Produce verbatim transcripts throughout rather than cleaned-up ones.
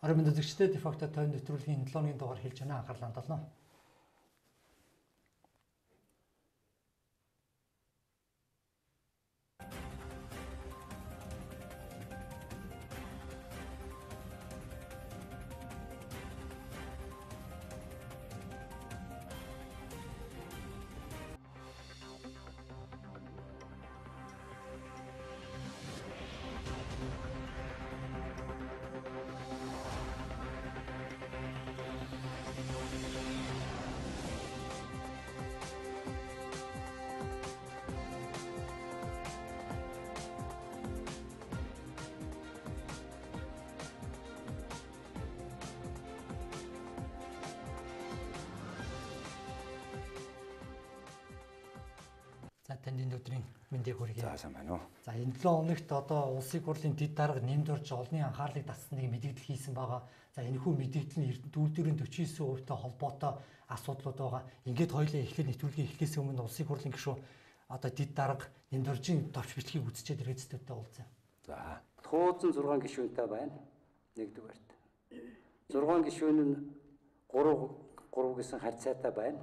Орон мэнд үзэгчдээ дефакто тойрон нэвтрүүлгийн седем өдрийн дугаар хэлж байна. Анхаарлаа хандуулна. За танд энэ өдрийн мэндийг хүргэе. За сайн байна уу. За энэ седем хоногт одоо улсын хурлын дэд дарга нэмд орж олонний анхаарлыг татсныг мэдээлэл хийсэн байгаа. За энэхүү мэдээлэл нь Эрдэнэт үйлдвэрийн forty-nine хувьтай холбоотой асуудлууд байгаа. Ингээд хоёулаа эхлээд нэвтрүүлгийн эхлэхээс өмнө улсын хурлын гишүүн одоо дэд дарга нэмд оржийн товч бичлэгийг үзчихэд ирээдүйдээ уулзъя. За туусан six гишүүнтэй байна. Нэгдүгээрт. six гишүүн нь three three гэсэн харьцаатай байна.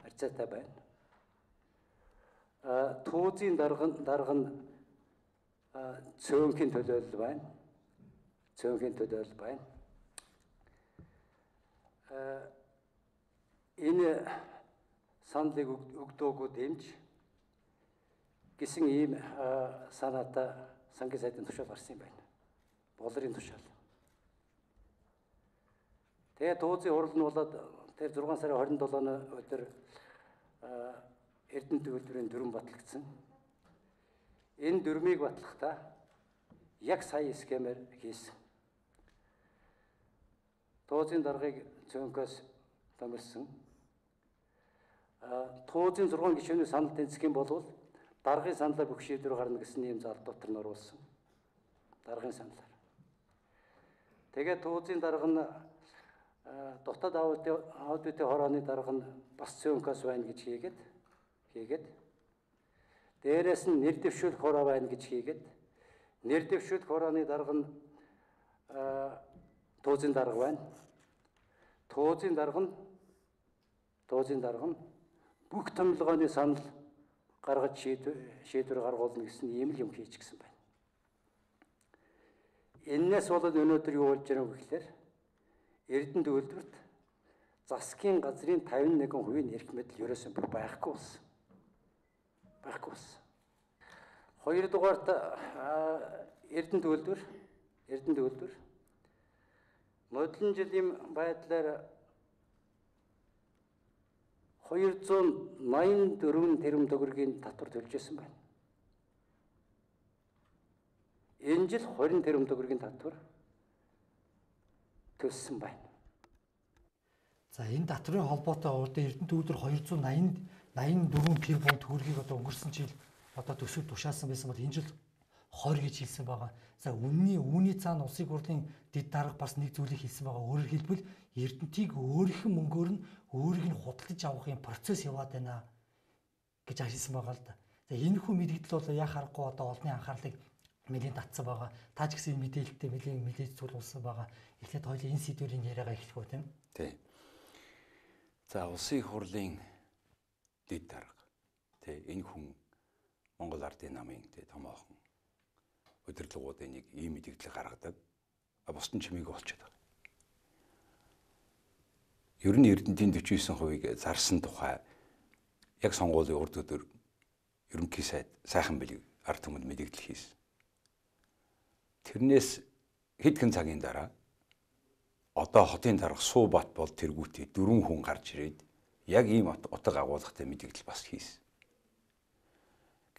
Харьцаатай байна. А туузын дарга дарга нь цөөнхийн төлөөлөл байна. Цөөнхийн төлөөлөл байна. А энэ саналыг өгдөөгүй дэмж гэсэн ийм санаатай сангийн сайдын тушаал гарсан юм байна. Болрын тушаал. Тэгээ туузын хурал нь болоод тэр six сарын twenty-seven өдөр Эрдэнэт үйлдвэрийн дүрм батлагдсан. Энэ дүрмийг батлахдаа яг сая схемээр хийсэн. Туузын даргыг цөөнхөөс томилсон. А туузын six гишүүний санал тэнцэх юм бол даргын саналаар бүх шийдвэр гарна гэсэн ийм залдуутар нь оруулсан. Даргын саналаар. Тэгээд туузын дарга нь дотоод аудитын хорооны дарга нь бас цөөнхөөс байна гэж хийгээд хийгээд дээрээс нь нэр дэвшүүлэх хороо байна гэж хийгээд нэр дэвшүүлэх хорооны дарга нь туузын дарга байна. Туузын дарга нь туузын дарга нь бүх томилгооны санал гаргаж шийдвэр гаргуулна гэсэн ийм л юм хийж гисэн байна. Энээс болоод өнөөдөр юу болж байгаа вэ гэхээр Эрдэнэт үйлдвэрт засгийн газрын fifty-one percent эрх мэдэл ерөөсөн байхгүй болсон. Байхгүй болсон. Хоёрдугаарт Эрдэнэт үйлдвэр Эрдэнэт үйлдвэр модлон жилийн байдлаар two ninety-four тэрбум төгрөгийн татвар төлж байсан байна. Энэ жил twenty тэрбум төгрөгийн татвар төлсөн байна. За энэ татврын холбоотой урд Эрдэнэт үйлдвэр two ninety-four тэрбум төгрөгийг одоо өнгөрсөн жил одоо төсөв тушаасан байсан бол энэ жил twenty гэж хэлсэн байгаа. За үнний үүний цаана улсын хурлын дэд дарга бас нэг зүйлийг хэлсэн байгаа. Өөрөөр хэлбэл Эрдэнэтийг өөрийнх нь мөнгөөр нь өөрийг нь худалдаж авахын процесс яваад байна гэж хэлсэн байгаа л да. За энэ хүү мэдээлэл бол яа харахгүй одоо олонний анхаарлыг нэлээд татсан байгаа. Таа ч гэсэн мэдээлэлтэй нэлээд мэдээж зүйлүүлсэн байгаа. Эхлээд хоёулаа энэ сэдвэрийн яриагаа эхлэх үү тийм. Тий. За улсын хурлын дэд дарга тий энэ хүн Монгол Ардын намын тий томоохон удирдлагуудын нэг ийм мэдээлэл гаргадаг. А бусдын чимээг олчиход байгаа. Ер нь Эрдэнэтийн forty-nine percent-ийг зарсан тухай яг сонгуулийн урд өдөр ерөнхий сайд сайхан бэлэг ард түмэнд мэдээлэл хийсэн. Тэрнээс хэдхэн цагийн дараа одоо хотын дарга Суубат бол тэргүүтээ дөрвөн хүн гарч ирээд яг ийм утга агуулгатай мэдээлэл бас хийсэн.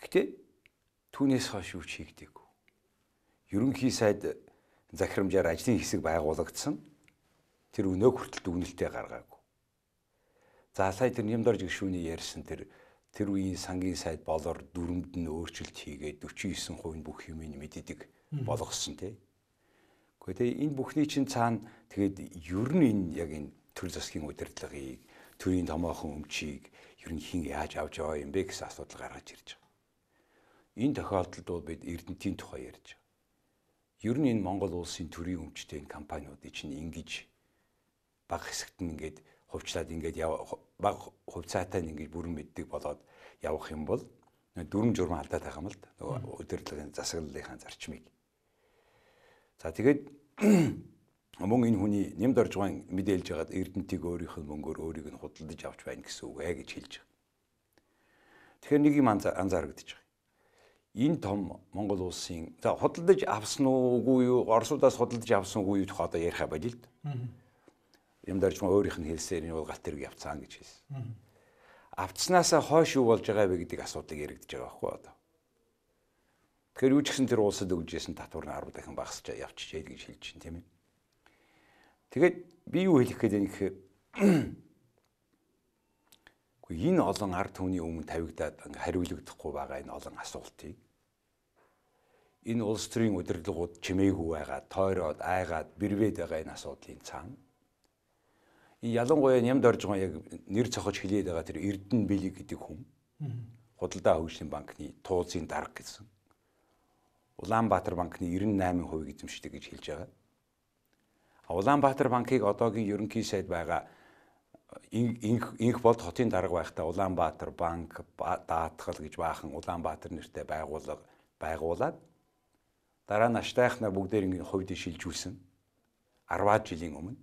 Гэхдээ түүнээс хойш юу ч хийгдээгүй. Ерөнхий сайд захирамжаар ажлын хэсэг байгуулагдсан. Тэр өнөө хүртэл дүгнэлтээ гаргаагүй. За сая тэр Нямдорж гишүүний ярьсан тэр тэр үеийн сангийн сайд болоор дүрмд нь өөрчлөлт хийгээд forty-nine percent бүх юмыг мэддэг болгосон тий. Гэхдээ энэ бүхний чинь цаана тэгээд ер нь энэ яг энэ төр засгийн удирдлагыг, төрийн томоохон өмчийг ер нь хин яаж авч яваа юм бэ гэсэн асуудал гаргаж ирж байгаа. Энэ тохиолдолд бол бид Эрдэнэтийн тухай ярьж байгаа. Ер нь энэ Монгол улсын төрийн өмчтэй энэ компаниудыг чинь ингэж бага хэсэгт нь ингээд хувьчлаад ингээд бага хувьцаатай нь ингээд бүрэн мэддэг болоод явах юм бол дүрм журм алдаад байгаа юм л да. Нөгөө удирдлагын засаглалынхаа зарчмыг. За тэгээд мөн энэ хүний нэмд орж байгаа мэдээлж байгаад Эрдэнтийг өөрийнх нь мөнгөөр өөрийг нь худалдаж авч байна гэсэн үг ээ гэж хэлж байгаа. Тэгэхээр нэг юм анзаарагдаж байгаа. Энэ том Монгол улсын за худалдаж авсан уугүй юу, Оросудаас худалдаж авсан уугүй юу тухай одоо яриха болё л да. Нэмд орж байгаа өөрийнх нь хэлсээр энэ бол галт тэрэг явцсан гэж хэлсэн. Авцснаасаа хойш юу болж байгаа вэ гэдэг асуудлыг яригдж байгаа байхгүй одоо. Тэгэхээр юу ч гэсэн тэр улсад өгжсэн татвар нь арав дахин багасч явчихжээ гэж хэлж чинь тийм ээ. Тэгээд би юу хэлэх гээд байна гэхээр үгүй энэ олон ард түмний өмнө тавигдаад хариулагдахгүй байгаа энэ олон асуултыг энэ улс төрийн удирдлагууд чимээгүй байгаа, тойроод, айгаад, бэрвээд байгаа энэ асуудлын цаана энэ ялангуяа нямд орж байгаа яг нэр цохож хэлээд байгаа тэр Эрдэнэ Бэлэг гэдэг хүн худалдаа хөгжлийн банкны туулзын дарга гэсэн Улаанбаатар банкны девяносто восемь хувийг эзэмшдэг гэж хэлж байгаа. Улаанбаатар банкыг одоогийн ерөнхий сайд байгаа инх инх болд хотын дарга байхдаа Улаанбаатар банк даатгал гэж баахан Улаанбаатар нэртэй байгууллага байгуулад дараа нь аштайхнаар бүгдээр ингэ хувьд шилжүүлсэн арваад жилийн өмнө.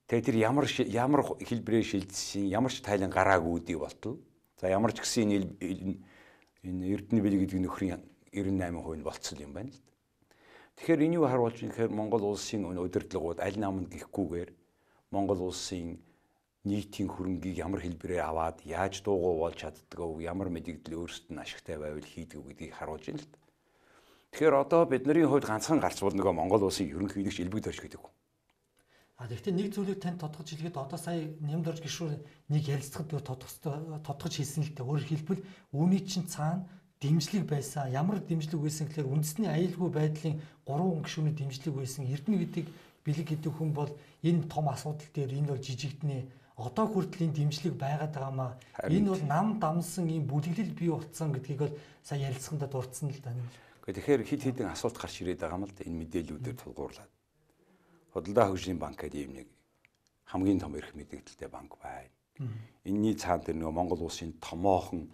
Тэгээ тэр ямар ямар хэлбэрээр шилжсэн, ямар ч тайлан гараагүй үдий болтол. За ямар ч гэсэн энэ энэ Эрдэнэ Бэлэг гэдэг нөхрийн девяносто восемь хувь нь болцсон юм байна л да. Тэгэхээр энэ юу харуулж байгаа гэхээр Монгол улсын удирдлагууд аль намд гихгүйгээр Монгол улсын нийтийн хөрөнгийг ямар хэлбэрээр аваад яаж дуугүй болж чаддгаа, ямар мэдээлэл өөрсдөд нь ашигтай байвал хийдэг гэдгийг харуулж байна л да. Тэгэхээр одоо бидний хувьд ганцхан гарч бол нөгөө Монгол улсын ерөнхийлөгч элбэг дөрж гэдэг. А тэгэхдээ нэг зүйлийг танд тодгож хэлгээд одоо сая нямд орж гişүр нэг ярилцахад тодгож тодгож хэлсэн л дээ. Өөрөөр хэлбэл үүний чинь цаана дэмжлэг байсан. Ямар дэмжлэг байсан гэхээр үндэсний аюулгүй байдлын гурван гишүүний дэмжлэг байсан. Эрдэнэ гэдэг Бэлэг гэдэг хүн бол энэ том асуудал дээр энэ бол жижигднэ. Одоо хүртэл энэ дэмжлэг байгаад байгаамаа. Энэ бол нам дамсан ийм бүлэглэл бий болцсон гэдгийг бол сая ярилцсандаа дурдсан л да. Тэгэхээр хид хідэн асуулт гарч ирээд байгаа юм л да энэ мэдээллүүдээр тулгуурлаад. Худалдаа хөгжлийн банк гэдэг юм нэг хамгийн том эрх мэдээлэлтэй банк байна. Энийний цаана тэр нөгөө Монгол улсын томоохон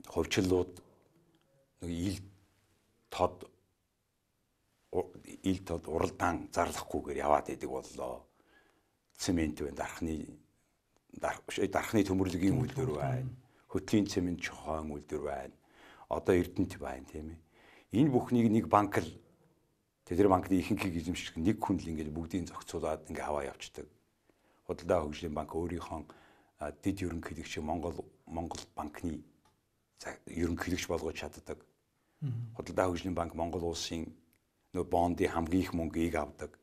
хувьчлууд нэг ил тод ил тод уралдаан зарлахгүйгээр яваад идэг боллоо. Цемент байна, дархны дархны төмөрлөгийн үйлдвэр байна. Хөтлийн цемент чохон үйлдвэр байна. Одоо Эрдэнэт байна тийм ээ. Энэ бүхнийг нэг банк л тэр банкны ихэнхийг эзэмших нэг хүн л ингээд бүгдийг зохицуулаад ингээд аваа явцдаг. Худалдаа хөгжлийн банк өөрийнхөө дэд ерөнхийлөгч Монгол Монгол банкны ерөнхийлөгч болгож чаддаг. Худалдаа хөгжлийн банк Монгол улсын нөө бондын хамгийн их мөнгийг авдаг.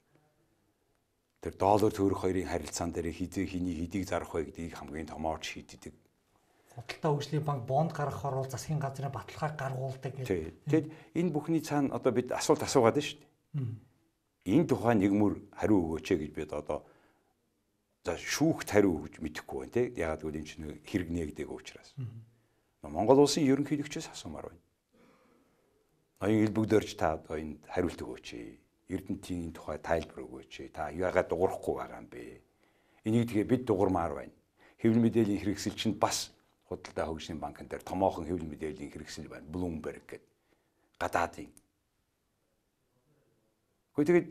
Тэр доллар төгрөг хоёрын харилцаан дээр хизээ хиний хэдийг зарах вэ гэдгийг хамгийн томоор шийддэг. Худалдаа хөгжлийн банк бонд гаргахаар бол засгийн газрын баталгааг гаргуулдаг гэдэг. Тэгэд энэ бүхний цаана одоо бид асуулт асуугаад байна шүү дээ. Энэ тухайн нэгмөр хариу өгөөч гэж бид одоо за шүүхт хариу өгч мэдэхгүй байна те. Ягаад гэвэл энэ чинь хэрэг нээгдэг учраас. Монгол улсын ерөнхийлөгчөөс асуумаар байна. Ноён элбэгдэрч та одоо энэ хариулт өгөөч. Эрдэнтийн тухай тайлбар өгөөч. Та яагаад дуурахгүй байгаа юм бэ? Энийг тэгээ бид дуурмаар байна. Хэвлэл мэдээллийн хэрэгсэл чинь бас худалдаа хөгжлийн банкн дээр томоохон хэвлэл мэдээллийн хэрэгсэл байна. Bloomberg гэдэг гадаадын. Гэхдээ тэгээд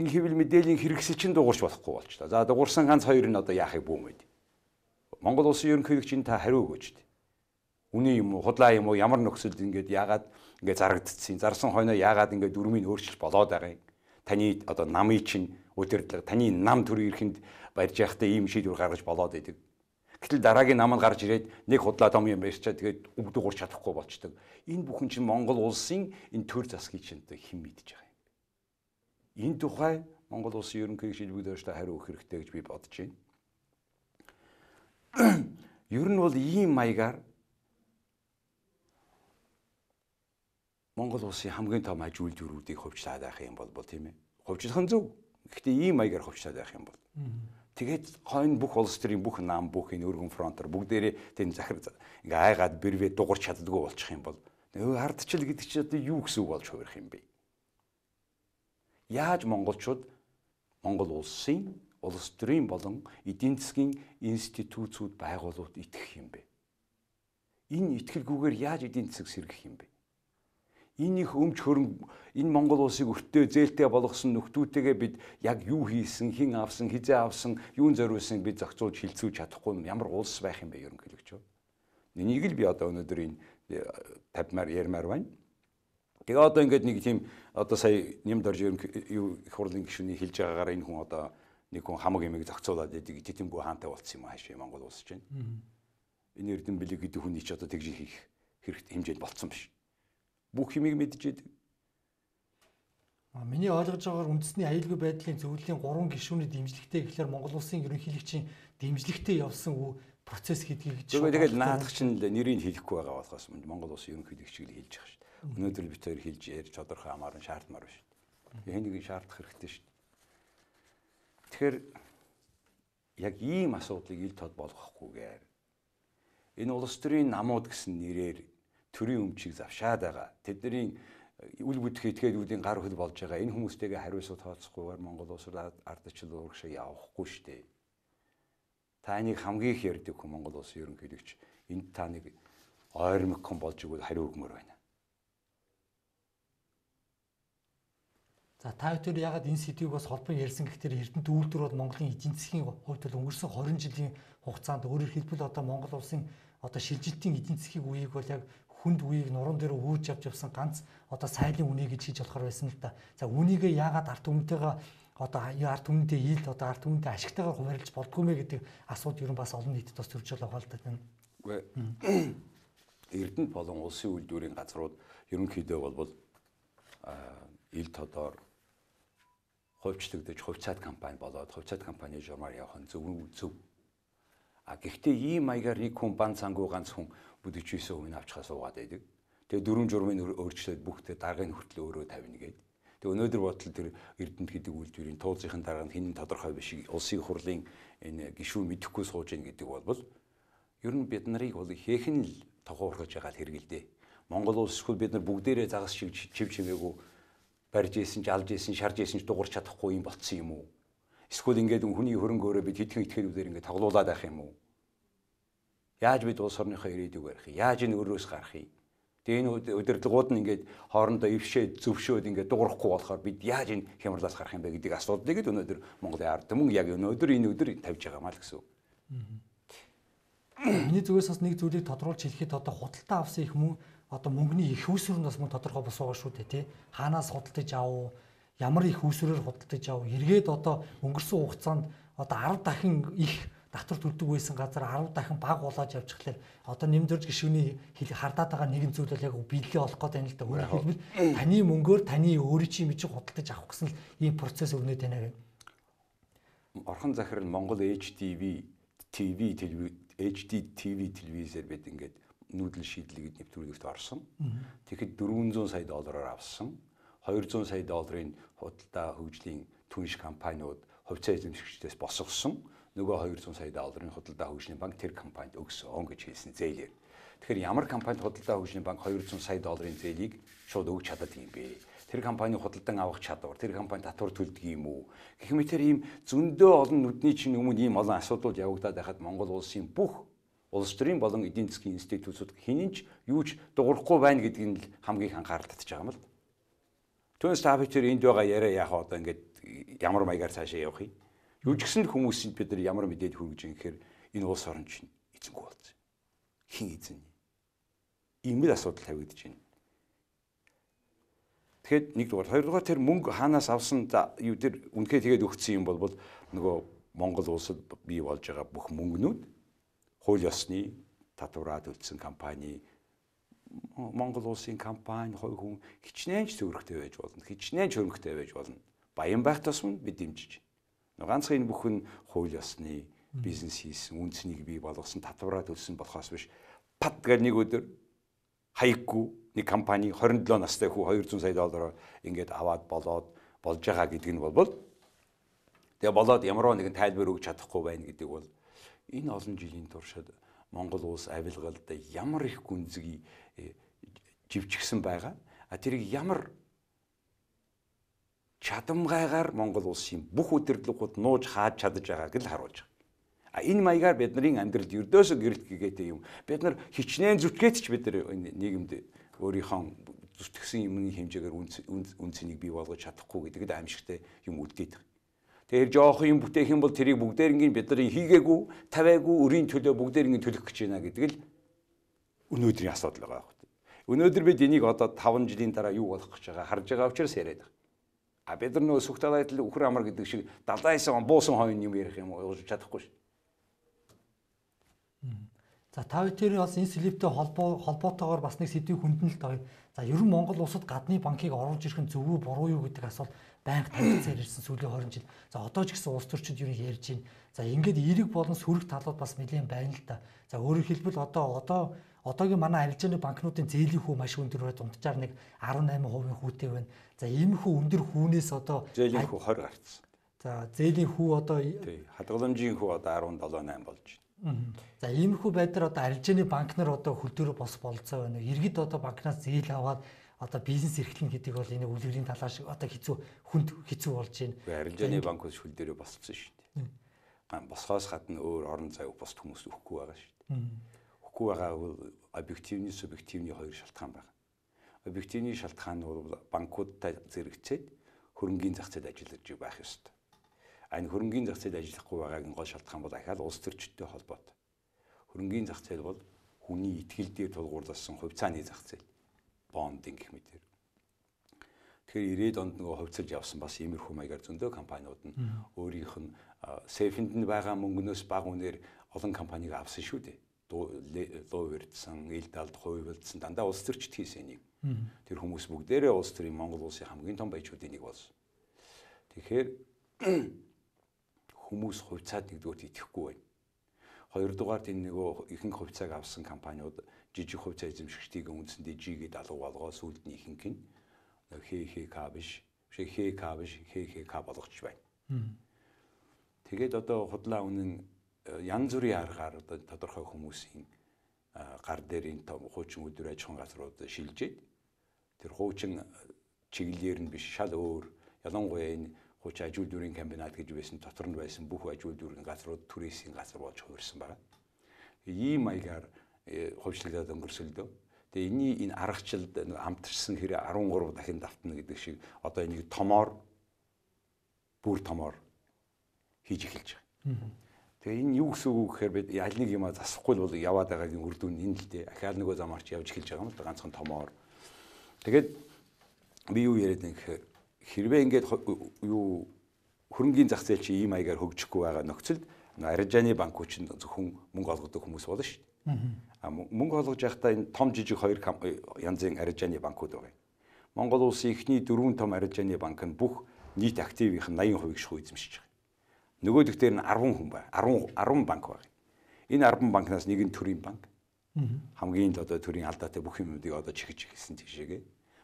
энэ хэвлэл мэдээллийн хэрэгсэл чинь дуурч болохгүй болчлаа. За дуурсан ганц хоёр нь одоо яахыг бүүмэд. Монгол улсын ерөнхийлөгч та хариу өгөөч. Үний юм уу, худлаа юм уу, ямар нөхцөлд ингээд яагаад ингээд зарагдчихсан. Зарсан хойноо яагаад ингээд дүрмийг өөрчилж болоод байгаа юм. Таны одоо намын чинь удирдлага, таны нам төрийн эрхэнд барьж явахдаа ийм шийдвэр гаргаж болоод идэг. Гэтэл дараагийн намд гарч ирээд нэг худлаа том юм барьчаад тэгээд өгдөг урч чадахгүй болчдөг. Энэ бүхэн чинь Монгол улсын энэ төр засгийн чинь хэн мэдж байгаа юм бэ? Энэ тухай Монгол улсын ерөнхийлөгч элбэг дөржтэй хариу өгөх хэрэгтэй гэж би бодож байна. Ер нь бол ийм маягаар Монгол улсын хамгийн том аж үйлдвэрүүдийг хувьчлаад байх юм бол тийм ээ. Хувьчлах нь зөв. Гэхдээ ийм маягаар хувьчлаад байх юм бол. Тэгээд хойно бүх улс төрийн бүх нам бүх энэ өргөн фронтор бүгдээрээ тэн захир ингээ айгаад бэрвээ дуурч чаддгүй болчих юм бол Нөгөө ардчил гэдэг чинь одоо юу гэсэн үг болж хувирах юм бэ? Яаж монголчууд Монгол улсын, улс төрийн болон эдийн засгийн институтсууд байгууллагууд итгэх юм бэ? Энэ итгэлгүйгээр яаж эдийн засаг сэргэх юм бэ? Энэ их өмч хөрөнгө энэ Монгол улсыг өртөө зээлтэй болгосон нөхдүүтэйгээ бид яг юу хийсэн, хэн авсан, хизээ авсан, юун зориулсан бид зохицуулж хилцүүлж чадахгүй ямар улс байх юм бэ ерөнхийлөгч? Энийг л би одоо өнөөдөр энэ тавьмаар ярмаар байна. Тэгээ одоо ингээд нэг тийм одоо сая нэмд орж юу их хурлын гишүүний хэлж байгаагаар энэ хүн одоо нэг хүн хамаг ямиг зохицуулаад идэг тэтэмгүй хаантай болцсон юм аашаа Монгол улс чинь. Энэ Эрдэм Билэг гэдэг хүний ч одоо тэгж хийх хэрэгтэй хэмжээнд болцсон биш. Бүх юмыг мэдж идэг. А миний ойлгож байгаагаар үндэсний аюулгүй байдлын зөвлөлийн гурван гишүүний дэмжлэгтэй гэхлээр Монгол улсын ерөнхийлөгчийн дэмжлэгтэй явсан процесс гэдгийг тэгээд наадах чинь л нэрийг хэлэхгүй байгаа болохоос Монгол улсын ерөнхийлөгчийг л хэлж байгаа шүү дээ. Өнөөдөр бид хоёр хэлж ярьж тодорхой хамааран шаардмаар байна шүү дээ. Энийг шаардах хэрэгтэй шүү дээ. Тэгэхээр яг ийм асуудлыг ил тод болгохгүйгээр энэ улс төрийн намууд гэсэн нэрээр төрийн өмчийг завшаад байгаа. Тэдний үл бүдэх этгээдүүдийн гар хөл болж байгаа. Энэ хүмүүстэйгээ хариуцлага тооцохгүйгээр Монгол улсад ардчлал урагшаа явахгүй шүү дээ. Та энийг хамгийн их ярьдаг хүн Монгол улсын ерөнхийлөгч энд та нэг ойрмог хүн болж игэл хариу өгмөр байна. За та бүхэн ягаад энэ сэдвийг бас холбон ярьсан гэхээр Эрдэнэт үйлдвэр бол Монголын эдийн засгийн хувьд бол өнгөрсөн хорин жилийн хугацаанд өөрөөр хэлбэл одоо Монгол улсын одоо шилжилтийн эдийн засгийн үеийг бол яг хүнд үеийг нуруунд дээр үүж авч явсан ганц одоо сайлын үнэ гэж хийж болохоор байсан л да. За үнийгээ ягаад ард түмэнтэйгээ одоо ард түмэнтэй ил одоо ард түмэнтэй ашигтайгаар хуваарлаж болдгүй мэ гэдэг асуудал ер нь бас олон нийтэд бас төрж байгаа л да. Үгүй Эрдэнэт болон улсын үйлдвэрийн газрууд ерөнхийдөө бол ил тодор хувьчлагдаж хувьцаат компани болоод хувьцаат компани журмаар явах нь зөв зөв. А гэхдээ ийм маягаар нэг хүн бан цангуу ганц хүн бүдэгчээс өмнө авчихаа суугаад байдаг. Тэгээ дөрвөн журмын өөрчлөөд бүхтээ даргын хүртэл өөрөө тавина гэдэг. Тэгээ өнөөдөр бодтол тэр Эрдэнэт гэдэг үйлдвэрийн туулзын дарга нь хинэн тодорхой биш улсын хурлын энэ гишүүн мэдэхгүй сууж ийн гэдэг бол ер нь бид нарыг бол хийхэн л тохуурхаж байгаа хэрэгэлдэ. Монгол улс эсвэл бид нар бүгдээрээ загас шиг чив чимээгүй барьж ийсэн, жалж ийсэн, шарж ийсэн ч дуурч чадахгүй юм болцсон юм уу? Эсвэл ингээд хүний хөрөнгө өөрөө бид хэдхэн этгээдүүдээр ингээд тоглуулад байх юм уу? Яаж бид улс орныхоо ирээдүйг барих юм? Яаж энэ өрөөс гарах юм? Тэгээ энэ удирдлагууд нь ингээд хоорондоо ившээд зөвшөөд ингээд дуурахгүй болохоор бид яаж энэ хямралаас гарах юм бэ гэдэг асуудлыг л өнөөдөр Монголын ард түмэн яг өнөөдөр энэ өдөр тавьж байгаа маа л гэсэн үг. Миний зүгээс бас нэг зүйлийг тодруулж хэлэхэд одоо худалдаа авсан их мөн одоо мөнгөний их үүсвэр нь бас мөн тодорхой бос байгаа шүү дээ тий. Хаанаас худалдаж авав, ямар их үүсвэрээр худалдаж авав, эргээд одоо өнгөрсөн хугацаанд одоо арав дахин их татвар төлдөг байсан газар арав дахин бага болоод явчихлаа. Одоо нэмдэрж гишүүний хардаад байгаа нэгэн зүйл бол яг биелэлээ олох гээд байна л да. Өөрөөр хэлбэл таны мөнгөөр таны өөрийн чинь мэж худалдаж авах гэсэн л ийм процесс өрнөд байна гэх. Орхон захирал Монгол эйч ди ви ти ви эйч ди ти ви телевизээр бид ингээд нүүдэл шийдлийг нэвтрүүлэгт орсон. Тэгэхэд дөрвөн зуун сая доллараар авсан. хоёр зуун сая долларын худалдаа хөгжлийн түнш компаниуд хувьцаа эзэмшигчдээс босгосон. Нөгөө хоёр зуун сая долларын худалдаа хөгжлийн банк тэр компанид өгсөн гэж хэлсэн зээлээр. Тэгэхээр ямар компанид худалдаа хөгжлийн банк хоёр зуун сая долларын зээлийг шууд өгч чаддаг юм бэ? Тэр компани худалдан авах чадвар, тэр компани татвар төлдөг юм уу? Гэх мэт тэр ийм зөндөө олон нүдний чинь өмнө ийм олон асуудал явагдаад байхад Монгол улсын бүх улс төрийн болон эдийн засгийн институтууд хинэнч юуч дуурахгүй байна гэдгийг нь хамгийн их анхаарал татж байгаа юм л. Түүнээс та бүхэн энд байгаа яриа яах одоо ингээд ямар маягаар цаашаа явах юм? Юу ч гэсэн хүмүүсийн бид нар ямар мэдээд хүргэж юм гэхээр энэ улс орн чинь эзэнгүй болсон. Хин эзэн? Ийм л асуудал тавигдаж байна. Тэгэхэд нэгдүгээр, хоёрдугаар тэр мөнгө хаанаас авсан юу тэр үнэхээр тэгээд өгсөн юм бол нөгөө Монгол улсад бий болж байгаа бүх мөнгнүүд хууль ёсны татвараа төлсөн компани Монгол улсын компани хувь хүн хичнээн ч төвөрхтэй байж болно. Хичнээн ч хөрөнгөтэй байж болно. Баян байх тусам бид дэмжиж. Ганцхан энэ бүхэн хууль ёсны бизнес хийсэн, үнцнийг бий болгосон, татвараа төлсөн болохоос биш. Пат гэх нэг өдөр хаяггүй нэг компани хорин долоо настай хүү хоёр зуун сая доллараар ингээд аваад болоод болж байгаа гэдэг нь бол тэгээ болоод ямар нэгэн тайлбар өгч чадахгүй байна гэдэг бол энэ олон жилийн туршид Монгол улс авилгалд ямар их гүнзгий живжигсэн байгаа. А тэрийг ямар чадамгайгаар Монгол улсын бүх удирдлагууд нууж хааж чадаж байгааг л харуулж байгаа. А энэ маягаар бидний амьдралд ердөөсөө гэрэлт гэгээтэй юм. Бид нар хичнээн зүтгээд ч бид нар нийгэмд өөрийнхөө зүтгэсэн юмны хэмжээгээр үн цэнийг бий болгож чадахгүй гэдэгт аимшигтай юм үлдээд байгаа. Тэгэхээр жоох юм бүтээх юм бол тэрийг бүгдээрингийн бид нар хийгээгүй, тавиагүй, өрийн төлөө бүгдээрингийн төлөх гэж байна гэдэг л өнөөдрийн асуудал байгаа байхгүй. Өнөөдөр бид энийг одоо таван жилийн дараа юу болох гэж байгаа харж байгаа учраас яриад байгаа. А бид нар нөө сүхт далайд л үхэр амар гэдэг шиг далайсан буусан хойно юм ярих юм ойлгож чадахгүй шүү. За та хоёр тэр бас энэ слиптэй холбоо холбоотойгоор бас нэг сэдвийг хүндэн л тоо. За ер нь Монгол улсад гадны банкыг оруулж ирэх нь зөв үү буруу юу гэдэг асуулт байнга танилцаар ирсэн сүүлийн хорин жил. За одоо ч гэсэн улс төрчид ер нь ярьж байна. За ингээд эерэг болон сөрөг талууд бас нэлээд байна л та. За өөрөөр хэлбэл одоо одоо одоогийн манай арилжааны банкнуудын зээлийн хүү маш өндөр бай дунджаар нэг арван найман хувийн хүүтэй байна. За иймэрхүү өндөр хүүнээс одоо зээлийн хүү хоёр гарцсан. За зээлийн хүү одоо тий хадгаламжийн хүү одоо арван долоо найм болж байна. За иймэрхүү байдлаар одоо арилжааны банк нар одоо хөл дөрөв бос болцоо байна. Иргэд одоо банкнаас зээл аваад одоо бизнес эрхлэн гэдэг бол энэ үлгэрийн талаа шиг одоо хэцүү хүнд хэцүү болж байна. Арилжааны банкуд хөл дөрөв босцсон шүү дээ. Ган босхоос гадна өөр орон зай босд хүмүүс өгөхгүй байгаа шүү дээ. Өгөхгүй байгаа бол объективны субъективны хоёр шалтгаан байна. Объективны шалтгаан нь бол банкудтай зэрэгцээд хөрөнгийн зах зээлд ажиллаж байх ёстой. Энэ хөрөнгийн зах зээлд ажиллахгүй байгаагийн гол шалтгаан бол ахаал улс төрчтэй холбоотой. Хөрөнгийн зах зээл бол хүний итгэл дээр тулгуурласан хувьцааны зах зээл, бондинг гэх мэтэр. Тэгэхээр ирээд онд нөгөө хувьцалж явсан бас иймэрхүү маягаар зөндөө компаниуд нь өөрийнх нь сейфэнд нь байгаа мөнгнөөс бага үнээр олон компанийг авсан шүү дээ. Луу өрдсөн, ил далд хувилдсан дандаа улс төрчд хийсэн нэг. Тэр хүмүүс бүгдээрээ улс төрийн Монгол улсын хамгийн том баячуудын нэг болсон. Тэгэхээр хүмүүс хувьцаад нэгдүгээр итгэхгүй байна. Хоёрдугаар энэ нөгөө ихэнх хувьцааг авсан компаниуд жижиг хувьцаа эзэмшигчдийн үндсэндээ жигээд алга болгоо сүлд нь ихэнх нь хэ хэ ка биш, хэ ка биш, хэ хэ ка болгоч байна. Тэгээд одоо худлаа үнэн янз бүрийн аргаар одоо тодорхой хүмүүсийн гар дээр энэ хуучин өдөр аж ахуйн газрууд шилжээд тэр хуучин чиглэлээр нь биш шал өөр ялангуяа энэ хуучин аж үйлдвэрийн комбинат гэж байсан дотор нь байсан бүх аж үйлдвэрийн газрууд түрээсийн газар болж хувирсан байна. Ийм маягаар хувьчлагдаад өнгөрсөлдөө. Тэгээ энэний энэ аргачлалд амтарсан хэрэг арван гурав дахин давтна гэдэг шиг одоо энийг томоор бүр томоор хийж эхэлж байгаа. Тэгээ энэ юу гэсэн үг гэхээр бид аль нэг юм засахгүй бол яваад байгаагийн үр дүн энэ л дээ. Ахаал нөгөө замаарч явж эхэлж байгаа юм л ганцхан томоор. Тэгээд би юу яриад нэг гэхээр хэрвээ ингээд юу хөрөнгийн зах зээл чи ийм маягаар хөгжихгүй байгаа нөхцөлд арилжааны банкуч нь зөвхөн мөнгө олгодог хүмүүс болно шүү дээ. А мөнгө олгож байхдаа энэ том жижиг хоёр янзын арилжааны банкуд байгаа. Монгол улсын эхний дөрвөн том арилжааны банк нь бүх нийт активийнх нь восемь хувийг шхүү эзэмшиж байгаа. Нөгөөх дээр нь арван хүн байна. арван арван банк байна. Энэ арван банкнаас нэг нь төрийн банк. Хамгийн л одоо төрийн алдаатай бүх юмнуудыг одоо чихэж ихсэн тийшээгээ.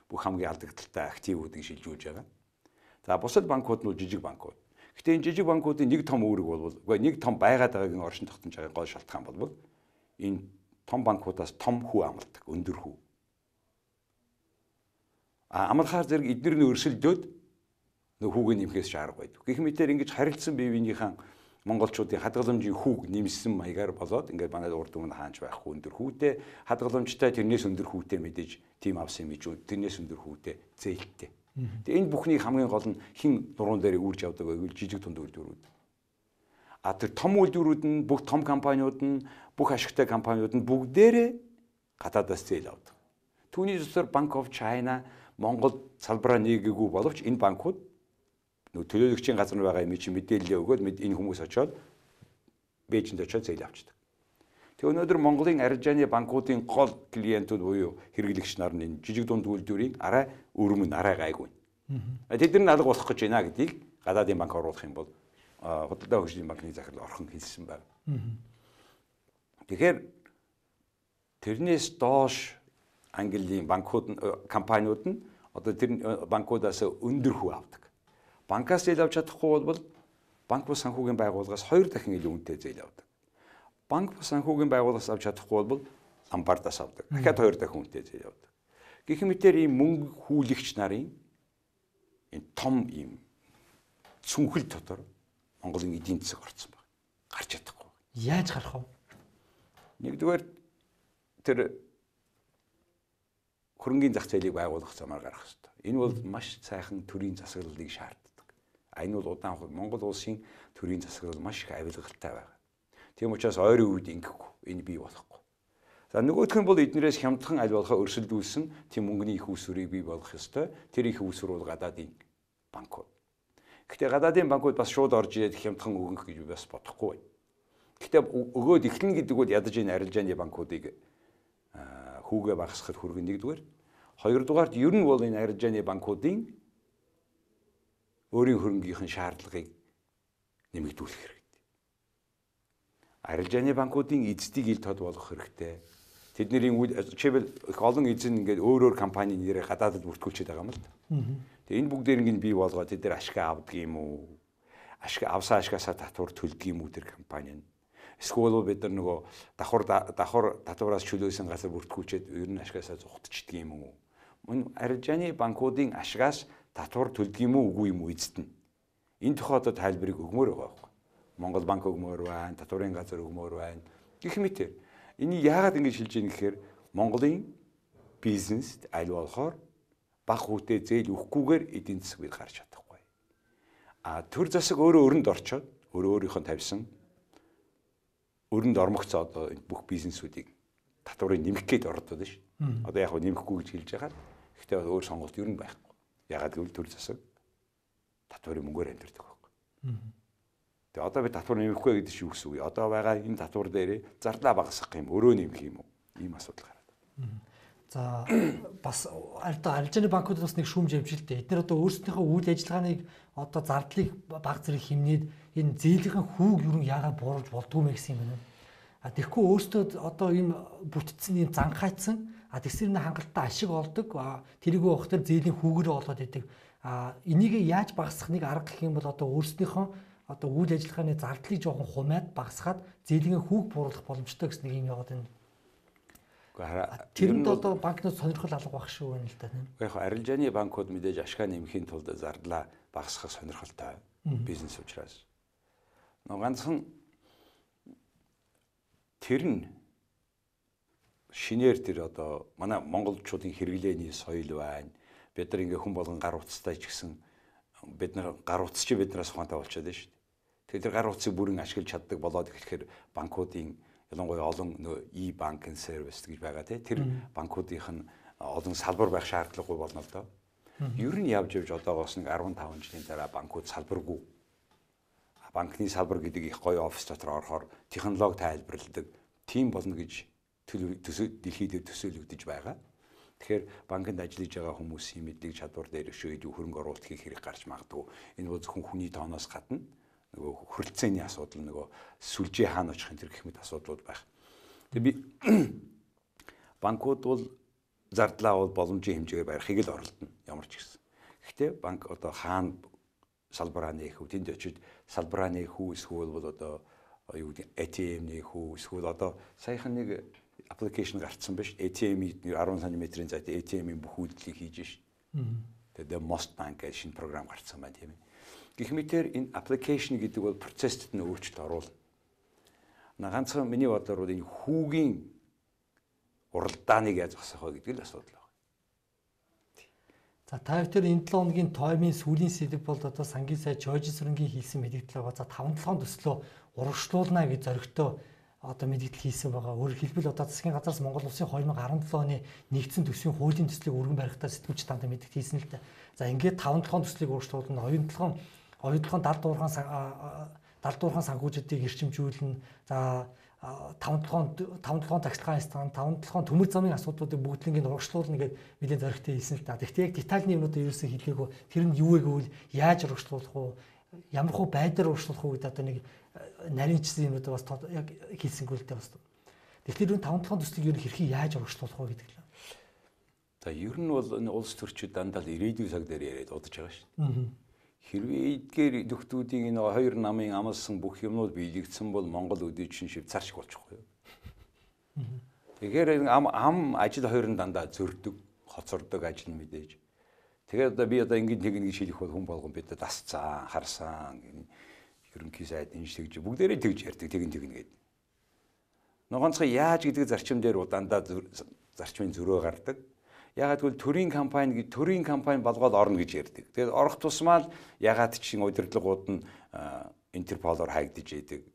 Бүх хамгийн алдагдaltaй активуудыг шилжүүлж байгаа. За бусад банкуд нь жижиг банкуд. Гэтэ энэ жижиг банкуудын нэг том үүрэг бол үгүй нэг том байгаад байгаагийн оршин тогтнож байгаа гол шалтгаан бол энэ том банкудаас том хүү амладаг, өндөр хүү. А амархаар зэрэг эдгээр нь өрсөлдөөд нөх хүүг нэмэхээс шаарга байдаг. Гэх мэтээр ингэж харилцсан бие биенийхэн монголчуудын хадгаламжийн хүүг нэмсэн маягаар болоод ингээд манай урд өмнө хаанч байхгүй өндөр хүүтэй хадгаламжтай тэрнээс өндөр хүүтэй мэдээж тим авсан юм ижүү тэрнээс өндөр хүүтэй зээлтэй. Тэгээ энэ бүхний хамгийн гол нь хин нуруунд дээр үрж явдаг байвал жижиг тунд үйлдвэрүүд. А тэр том үйлдвэрүүд нь бүх том компаниуд нь бүх ашигтай компаниуд нь бүгдээрээ гадаадаас зээл авдаг. Түүний зөвсөр Bank of China Монгол салбараа нээгээгүй боловч энэ банкуд төлөөлөгчийн газар байгаа юм чи мэдээлэл өгөөд энэ хүмүүс очоод Бээжинд очоод зээл авчдаг. Тэгээ өнөөдөр Монголын арилжааны банкуудын гол клиентүүд буюу хэрэглэгч нар нь энэ жижиг дунд үйлдвэрийн арай өрмөн арай гайгүй. Тэд нар алга болох гэж байна гэдгийг гадаадын банк оруулах юм бол худалдаа хөгжлийн банкны захирал орхон хэлсэн байна. Тэгэхээр тэрнээс доош Английн банкуд компаниуд нь одоо тэр банкудаас өндөр хүү авдаг. Банкаас зээл авч чадахгүй бол банк бус санхүүгийн байгууллагаас хоёр дахин илүү үнэтэй зээл авдаг. Банк бус санхүүгийн байгууллагаас авч чадахгүй бол ломбардаас авдаг. Дахиад хоёр дахин үнэтэй зээл авдаг. Гэх мэтээр ийм мөнгө хүүлэгч нарын энэ том ийм цүнхэл дотор Монголын эдийн засаг орцсон байна. Гарч чадахгүй. Яаж гарах вэ? Нэгдүгээр тэр хөрөнгөний зах зээлийг байгуулах замаар гарах хэрэгтэй. Энэ бол маш сайхан төрийн засаглалыг шаарддаг. А энэ бол удаан Монгол улсын төрийн засаглал маш их авилгалтай байна. Тийм учраас ойрын үед ингэхгүй энэ бий болохгүй. За нөгөөх нь бол эднэрээс хямдхан аль болохоо өрсөлдүүлсэн тийм мөнгөний их усврыг бий болгох ёстой. Тэр их усвар бол гадаадын банкуд. Гэхдээ гадаадын банкуд бас шууд орж ирээд хямдхан өгөх гэж бас бодохгүй байна. Гэхдээ өгөөд эхлэн гэдэг бол ядаж энэ арилжааны банкуудыг хүүгээ багасгахад хүргэн нэгдүгээр. Хоёрдугаарт ер нь бол энэ арилжааны банкуудын өөрийн хөрөнгөхийн шаардлагыг нэмэгдүүлэх хэрэгтэй. Арилжааны банкуудын эзэдийг ил тод болгох хэрэгтэй. Тэдний жишээлбэл их олон эзэн ингээд өөр өөр компани нэрээр гадаадд бүртгүүлчихэд байгаа юм л да. Тэгээ энэ бүгдээр ингээд бий болгоод тэд нар ашиг авдаг юм уу? Ашиг авсан ашигасаа татвар төлдөг юм уу тэр компани нь? Эсвэл бид нар нөгөө давхар давхар татвараас чөлөөсөн газар бүртгүүлчихэд ер нь ашигасаа зугтчихдаг юм уу? Мөн арилжааны банкуудын ашигаас татвар төлдөг юм уу үгүй юм уу эзэд нь? Энэ тохиолдолд тайлбарыг өгмөр байгаа байхгүй. Монгол банк өгмөр байна, татварын газар өгмөр байна. Гэх мэт. Энийг яагаад ингэж хэлж ийм гэхээр Монголын бизнест аль болохоор баг хүүтэй зээл өгөхгүйгээр эдийн засаг гарч чадахгүй. А төр засаг өөрөө өрөнд орчоод өөрөө өөрийнхөө тавьсан өрөнд ормогцоо одоо бүх бизнесүүдийг татварыг нэмэх гээд ордод шүү. Одоо яг нь нэмэхгүй гэж хэлж байгаа. Гэхдээ өөр сонголт ер нь байхгүй. Ягаад гэвэл төр засаг татварын мөнгөөр амьдардаг байхгүй. Тэгээ одоо би татвар нэмэхгүй гэдэг шиг үс үгүй. Одоо байгаа энэ татвар дээр зарлаа багасгах юм, өрөө нэмэх юм уу? Ийм асуудал гараад. За бас одоо арилжааны банкуд бас нэг шүүмж явж л дээ. Эдгээр одоо өөрсдийнхөө үйл ажиллагааныг одоо зардлыг баг зэрэг хэмнээд энэ зээлийн хүүг юу яагаад бууруулж болдгоо мэ гэсэн юм байна. А тэгэхгүй өөрсдөө одоо ийм бүтцэн ийм занхайцсан а тэгсэр нэ хангалттай ашиг олдог. Тэрийг уухтар зээлийн хүүгээрээ олоод идэг. А энийг яаж багасгах нэг арга гэх юм бол одоо өөрсдийнхөө одоо үйл ажиллагааны зардлыг жоохон хумаад багасгаад зээлийн хүүг бууруулах боломжтой гэсэн нэг юм яваад байна. Тэрэнд одоо банкнууд сонирхол алга байх шүү байна л да. Яг арилжааны банкуд мэдээж ашгаа нэмэхийн тулд зардлаа багасгах сонирхолтой бизнес учраас. Нөгөө ганцхан тэр нь шинээр тэр одоо манай монголчуудын хэрэглээний соёл байна. Бид нар ингээ хүн болгон гар утастай ч гэсэн бид нар гар утас чи биднээс ухаантай болчиход байна шүү дээ. Тэгэхээр тэр гар утсыг бүрэн ашиглаж чаддаг болоод ирэхээр банкуудын ялангуяа олон e банкинг сервис гэж байгаа тийм тэр банкуудынх нь олон салбар байх шаардлагагүй болно л доо. Ер нь явж явж одоогоос нэг арван таван жилийн дараа банкуд салбаргүй. Банкны салбар гэдэг их гоё офис дотор орохоор технологи тайлбарладаг тим болно гэж дэлхийд төсөөлөгдөж байгаа. Тэгэхээр банкнд ажиллаж байгаа хүмүүсийн мэдлэг чадвар дээр шийдвэр хөрөнгө оруулалт хийх хэрэг гарч магадгүй. Энэ бол зөвхөн хүний тооноос гадна нөгөө хөрөлцөөний асуудал нөгөө сүлжээ хаана очих энэ гэх мэт асуудлууд байх. Тэгээ би банкуд бол зардлаа бол боломжийн хэмжээгээр барихыг л оролдоно ямар ч гэсэн. Гэхдээ банк одоо хаана салбараа нээх үү тэнд очиж салбараа нээх үү эсвэл бол одоо юу гэдэг а тэ эм нээх үү эсвэл одоо саяхан нэг аппликейшн гарцсан биш а тэ эм-ийг арван сантиметрийн зайд а тэ эм-ийн бүх үйлдэлийг хийж шин. Тэгээд Most Bank гэж шинэ програм гарцсан байна тийм ээ. Гэх мэтээр энэ аппликейшн гэдэг бол процессд нь өөрчлөлт оруулна. На ганцхан миний бодлоор бол энэ хүүгийн уралдааныг яаж засах вэ гэдэг л асуудал байна. За та бүхэн энэ долоо хоногийн тоймын сүүлийн сэдв бол одоо сангийн сайд Жорж Сүрэнгийн хийсэн мэдээлэл байгаа. За таван долоон төслөө урагшлуулна гэж зоригтой одоо мэдээлэл хийсэн байгаа. Өөрөөр хэлбэл одоо засгийн газраас Монгол улсын две тысячи десять оны нэгдсэн төсвийн хуулийн төслийг өргөн барихтаа сэтгүүлч танд мэдээлэл хийсэн л дээ. За ингээд таван долоон төслийг урагшлуулна. Оюутлогын оюутлогын далд уурхаан далд уурхаан санхүүжилтийг эрчимжүүлнэ. За таван долоон таван долоон тагслагын стан, таван долоон төмөр замын асуудлуудыг бүгдлэнгийн урагшлуулна гэдэг мэдээ зоригтой хийсэн л да. Гэхдээ яг детальны юмнуудыг ерөөсөө хэлээгүй. Тэр нь юу вэ гэвэл яаж урагшлуулах вэ? Ямар хөө байдлаар урагшлуулах вэ гэдэг одоо нэг нарийнчсан юмнууд бас яг хийсэнгүй л дээ бас. Тэгэхээр энэ таван долоон төслийг ер нь хэрхэн яаж урагшлуулах вэ гэдэг л. За ер нь бол энэ улс төрчид дандаа л ирээдүйн цаг дээр яриад удаж байгаа шүү дээ. Хэрвээ эдгээр нөхдүүдийн энэ хоёр намын амлсан бүх юмнууд биелэгдсэн бол Монгол өдөөжин Швейцар шиг болчихгүй юу. Тэгэхээр ам ам ажил хоёр нь дандаа зөрдөг, хоцордог ажил нь мэдээж. Тэгээд одоо би одоо ингээд нэг нэг шилэх бол хүн болгон бид дасцсан, харсан, ерөнхий сайд энэ шиг бүгдээрээ тэгж ярьдаг, тэгин тэгнэ гэдэг. Ногоонцгой яаж гэдэг зарчим дээр дандаа зарчмын зөрөө гардаг. Ягаад гэвэл төрийн компани төрийн компани болгоод орно гэж ярьдаг. Тэгээд орох тусмаа л ягаад чинь удирдлагууд нь Интерполоор хаагдж идэг.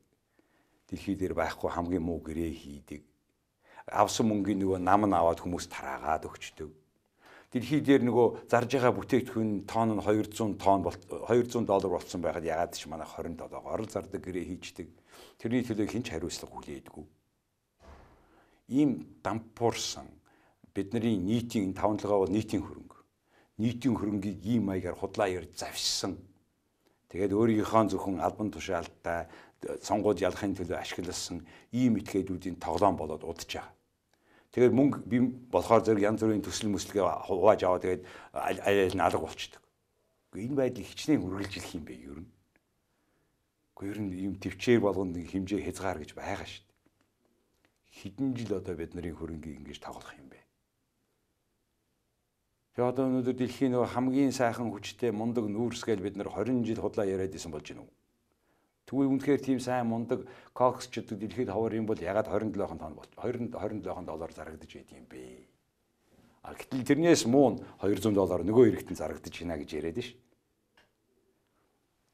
Дэлхий дээр байхгүй хамгийн муу гэрээ хийдэг. Авсан мөнгөний нөгөө нам нь аваад хүмүүс тараагаад өгчдөг. Дэлхий дээр нөгөө зарж байгаа бүтээгдэхүүн тонн нь хоёр зуун тонн хоёр зуун доллар болсон байхад ягаад ч манай хорин долоогоор зардаг гэрээ хийждэг. Тэрний төлөө хэн ч хариуцлага хүлээдэггүй. Ийм дампуурсан бидний нийтийн таван толгой бол нийтийн хөрөнгө. Нийтийн хөрөнгийг ийм маягаар худлаа ярьж завшсан. Тэгээд өөрийнхөө зөвхөн албан тушаалттай сонгууд ялахын төлөө ашигласан ийм этгээдүүдийн тоглоом болоод удаж байгаа. Тэгээд мөнгө би болохоор зэрэг янз бүрийн төсөл мөслөгээ хувааж аваад тэгээд аль аль нь алга болчдөг. Энэ байдлыг хичнээн үргэлжлэх юм бэ ер нь. Гэхдээ ер нь ийм төвчээр болгоно хэмжээ хязгаар гэж байгаа шүү дээ. Хэдэн жил одоо бидний хөрөнгийг ингэж тоглох юм бэ? Тэгээ одоо өнөөдөр дэлхийн нөгөө хамгийн сайхан хүчтэй мундаг нүүрсгээл бид нар хорин жил худлаа яриад исэн болж байна уу? Тэгвэл үнэхээр тийм сайн мундаг коксчд дэлхийд ховор юм бол ягаад двадцать seven тонн бол двадцать seven доллар зарагдаж байд юм бэ? А гэтэл тэрнээс муу two hundred доллар нөгөө хэрэгтэн зарагдаж байна гэж яриад ш.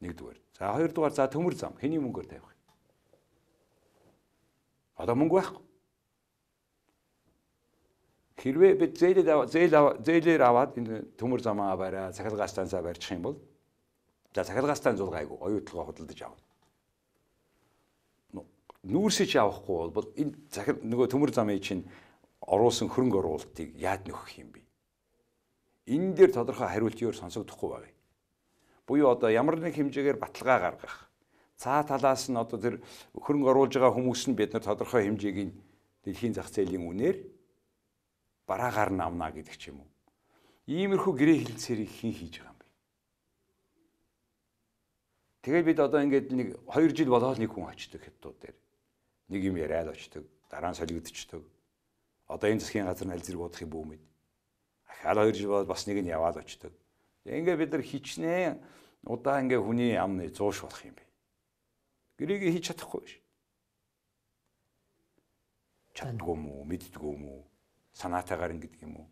Нэгдүгээр. За хоёрдугаар за төмөр зам хэний мөнгөөр тавих юм? Одоо мөнгө байхгүй. Хэрвээ бид зээлээр зээл зээлээр аваад энэ төмөр замаа бариа, цахилгаан станцаа барьчих юм бол за цахилгаан станц зул гайгүй оюутлогоо худалдаж авна. Нүүрсэж авахгүй бол энэ цахил нөгөө төмөр замын чинь оруулсан хөрөнгө оруулалтыг яад нөхөх юм бэ? Энэ дээр тодорхой хариултын сонсогдохгүй байна. Буюу одоо ямар нэг хэмжээгээр баталгаа гаргах. Цаа талаас нь одоо тэр хөрөнгө оруулж байгаа хүмүүс нь бид нар тодорхой хэмжээгийн дэлхийн зах зээлийн үнээр бараагаар нь авна гэдэг ч юм уу. Иймэрхүү гэрээ хэлцээрийг хэн хийж байгаа юм бэ? Тэгээд бид одоо ингээд нэг хоёр жил болоод нэг хүн очдог хятадууд дээр. Нэг юм яриад очдог, дараа нь солигдчихдог. Одоо энэ засгийн газар нь аль зэрэг удах юм бүү мэд. Ахаал хоёр жил болоод бас нэг нь яваад очдог. Ингээд бид нар хичнээн удаа ингээд хүний амны зууш болох юм бэ. Гэрээгээ хийж чадахгүй ш. Чаддгүй юм уу, мэддгүй юм уу? Санаатайгаар ингэдэг юм уу?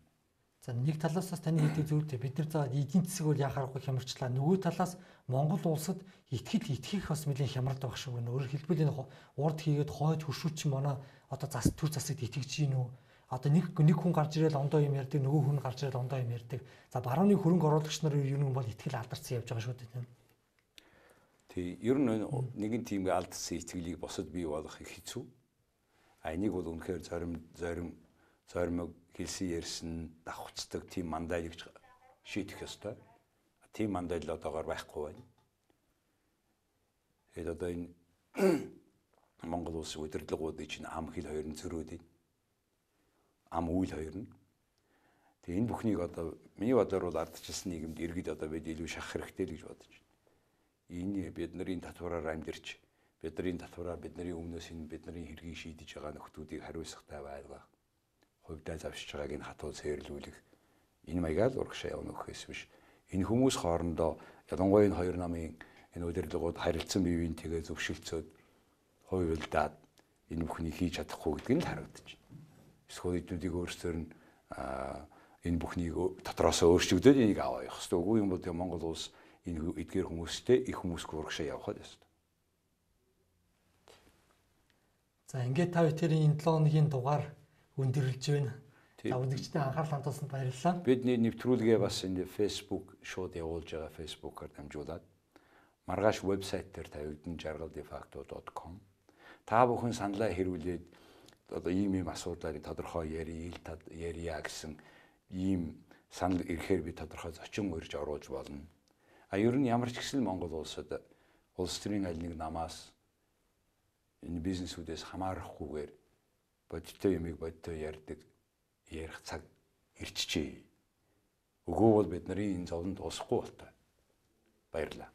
За нэг талаас бас таны хэлдэг зүйтэй бид нар за эдийн засаг бол яхаарахгүй хямарчлаа. Нөгөө талаас Монгол улсад итгэл итгэх бас нэлээд хямралд байх шиг байна. Өөрөөр хэлбэл энэ урд хийгээд хойд хөршүүч манай одоо зас төр засагт итгэж гин үү? Одоо нэг нэг хүн гарч ирэл ондоо юм ярьдаг, нөгөө хүн гарч ирэл ондоо юм ярьдаг. За барууны хөрөнгө оруулагч нар ер нь бол итгэл алдарсан явж байгаа шүү дээ. Тий, ер нь нэгэн тийм алдсан итгэлийг босод бий болгох их хэцүү. А энийг бол үнэхээр зорим зорим зоримог хэлсэн ярьсан давхцдаг тийм мандайлыг шийдэх ёстой. Тийм мандайл одоогоор байхгүй байна. Тэгээд одоо энэ Монгол улсын удирдлагуудын чинь ам хил хоёр нь зөрөөд байна. Ам үйл хоёр нь. Тэгээд энэ бүхнийг одоо миний бодлоор бол ардчилсан нийгэмд иргэд одоо бид илүү шахах хэрэгтэй л гэж бодож байна. Энэ бидний татвараар амьдэрч, бидний татвараар бидний өмнөөс энэ бидний хэргийг шийдэж байгаа нөхдүүдийг хариуцлагатай байлгах. Хувьдаа завшиж байгааг энэ хатуу цээрлүүлэх энэ маягаар л урагшаа явна гэхээс биш. Энэ хүмүүс хоорондоо ялангуяа энэ хоёр намын энэ удирдлагууд харилцан бие биентэйгээ зөвшөлдсөд хувилдаад энэ бүхнийг хийж чадахгүй гэдэг нь л харагдаж байна. Эсвэл эднүүдийг өөрсдөр нь энэ бүхнийг дотроос өөрчлөгдөд энийг аваа явах хэрэгтэй. Үгүй юм бол Монгол улс энэ эдгээр хүмүүстэй их хүмүүсгүй урагшаа явахад ёстой. За ингээд та бүхэн энэ долоо хоногийн дугаар өндөрлөж байна. За үзэгчдийн анхаарал хандуулсанд баярлалаа. Бидний нэвтрүүлгээ бас энэ Facebook шууд явуулж байгаа Facebook-оор дамжуулаад маргааш вебсайт дээр тавигдан жаргал defacto dot com та бүхэн саналаа хэрүүлээд одоо ийм ийм асуудлыг тодорхой ярил ярья гэсэн ийм санал ирэхээр би тодорхой зочин урьж оруулж болно. А ер нь ямар ч гэсэн Монгол улсад улс төрийн аль нэг намаас энэ бизнесүүдээс хамаарахгүйгээр бодиттой юмыг бодиттой ярьдаг ярих цаг ирчихжээ. Өгөө бол бидний энэ зовлон дуусахгүй болтой. Баярлалаа.